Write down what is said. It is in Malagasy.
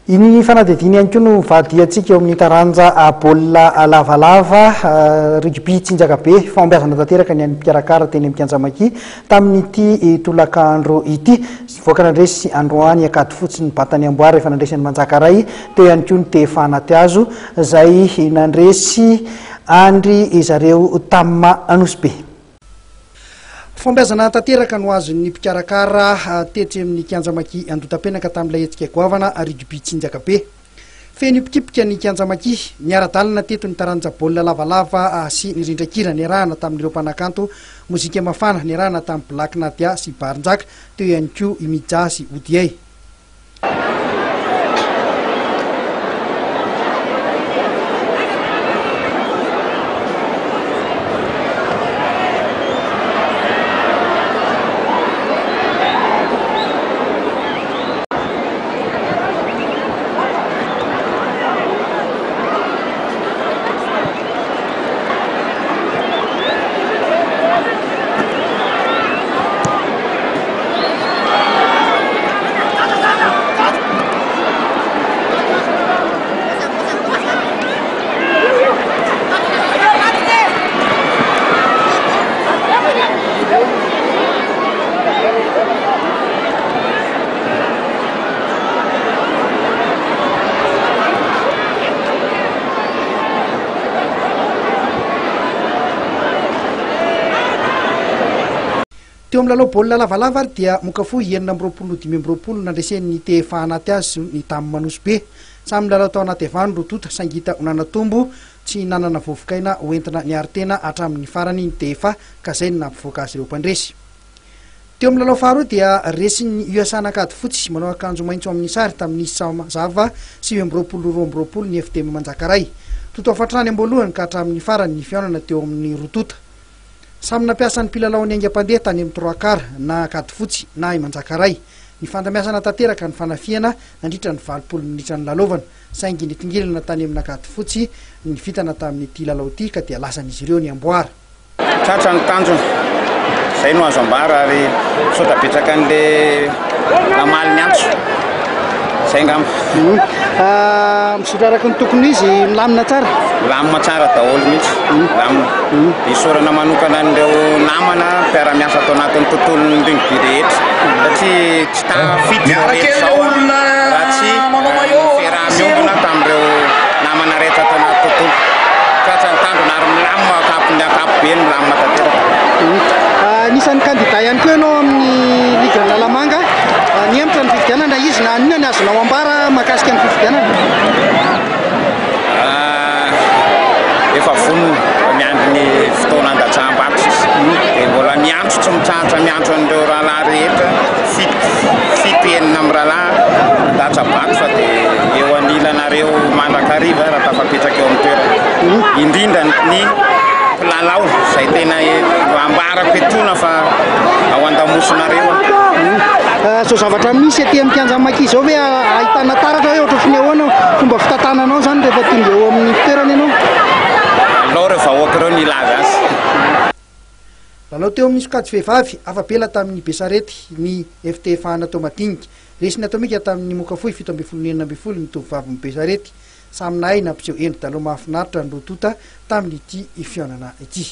Iny fanadihadiana ihany koa no vadiantsika eo amin'ny taranja baolina lavalava, rugby tsinjaka be, fahombiazana tanteraka ny an'ny mpikarakara teny amin'ny kianja Maki tamin'ity tolakandro ity. Nivoaka nandresy androany Ankadifotsy ny Batany Amboara efa nandresy an'i Manjakaray, teo ihany koa ny TFA Anatihazo izay nandresy an-dry zareo Tam Anosibe. Fahombiazana tanteraka no azon'ny mpikarakara tetsy amin'ny kianja Maki Andotapenaka tamin'ilay hetsika goavana rugby tsinjaka be. Feno hipikipika ny kianja Maki. Niara-dalana teto ny taranja baolina lavalava sy ny rindran-kira niarahana tamin'ireo mpanakanto mozika mafana niarahana tamin'i Black Nadia sy Barinjaka, teo ihany koa i Mija sy Odiay. Teo amin'ny lalao baolina lavalava ary dia Mokafohy 26 no 25 nandresen'ny TFA anaty azy ny Dame Manosy Be. Samy nilalao tao anaty avano roa tonta saingy hita ho nanatombo tsy nanana vovokaina hoentina niaro tena hatramin'ny farany ny TFA ka izay no nampivoaka azy ireo mpandresy. Teo amin'ny lalao faharoa dia resin'ny USA an'Ankadifotsy manao akanjo maitso amin'ny sary tamin'ny isa mazava 29 22 ny FDM Manjakaray. Totoafo hatrany am-boalohany ka hatramin'ny farany ny fihaonana teo amin'ny roa tonta. Samy nampiasa ny mpilalaony haingam-pandeha tany amin'ny trois quarts na Ankadifotsy na i Manjakaray. Nifandamiasana tanteraka ny fanafihana nandritra ny 80 minitra nilalaovana, saingy nitongilana tany amin'Ankadifotsy ny vintana tamin'ity lalao ity ka dia lasan'izy ireo ny amboara. Tratra ny tanjona, izay no azo ambara ary misaotra betsaka an'le namaly ny antso, izay angamba. Mizotra araka ny tokony ho izy, milamina tsara? Milamina tsara daholo mihitsy, milamina. Isaorana manokana an'ireo namana mpiara-miasa ato anatin'ny tontolon'ny rugby rehetra satria tsy tafiditra izao rehetra izao raha tsy fiaraha-miombona tamin'ireo namana rehetra ato anaty tontolo. Tratra ny tanjona ary milamina amin'ny ankapobeny, milamina tanteraka. Anisan'ny kandida ihany koa ianao amin'ny ligue Analamanga. Nihemotra ny fifidianana izy na inona ny azonao ambara mahakasika ny fifidianana? Efa vonona, efa miandry ny fotoana handatsaham-bato sisa. Dia mbola miantso tsy mitsahatra miantso an'ireo rahalahy rehetra, fito, fito enina amin'ny rahalahy handatsa-bato fa dia eo anilanareo mandrakariva raha tafapetraka eo amin'ny toerana. Indrindra ny mpilalao izay tena ambarako etoana fa ao an-damosinareo aho. Izao zavatra misy aty amin'ny kianjan'ny Maki izao ve ahitana taratra hoe ohatran'ny ny ahoana fomba fitantananao izany rehefa tonga eo amin'ny fitoerana ianao? Alao ireo vahoaka ireo ny hilaza azy. Lalao teo amin'ny sokajy vehivavy, afa-bela tamin'ny Besarety ny FTFA Anatoamadinika. Resin'ny Atomika tamin'ny moka fohy 17 16 ny tovovavin'ny Besarety. Samy nahay nampiseho endri-dalao mahafinaritra ny roa tonta tamin'ity fihaonana ity.